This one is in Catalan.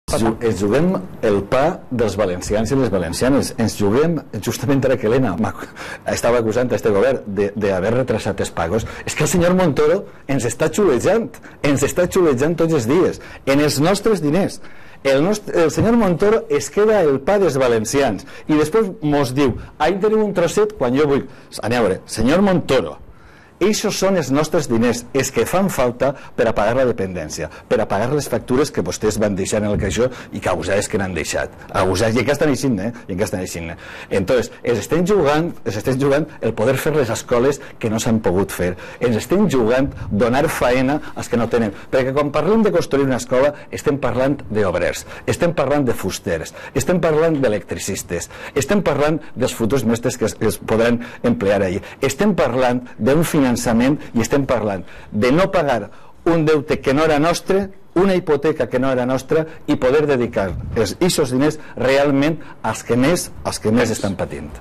Ens juguem el pa dels valencians i les valencianes. Ens juguem, justament ara que Elena estava acusant a este govern d'haver retrasat els pagos, és que el senyor Montoro ens està xulejant tots els dies, en els nostres diners. El senyor Montoro es queda el pa dels valencians i després mos diu, ahí teniu un trosset quan jo vull. A veure, senyor Montoro, eixos són els nostres diners, els que fan falta per a pagar la dependència, per a pagar les factures que vostès van deixar en el caixó i que abusades que n'han deixat. Abusades, i encara estan així, Entonces, ens estem jugant el poder fer les escoles que no s'han pogut fer. Ens estem jugant donar faena als que no tenen. Perquè quan parlem de construir una escola, estem parlant d'obrers, estem parlant de fusters, estem parlant d'electricistes, estem parlant dels futurs mestres que es podran emplear allí. Estem parlant d'un finançament i estem parlant de no pagar un deute que no era nostre, una hipoteca que no era nostra i poder dedicar aquests diners realment als que més estan patint.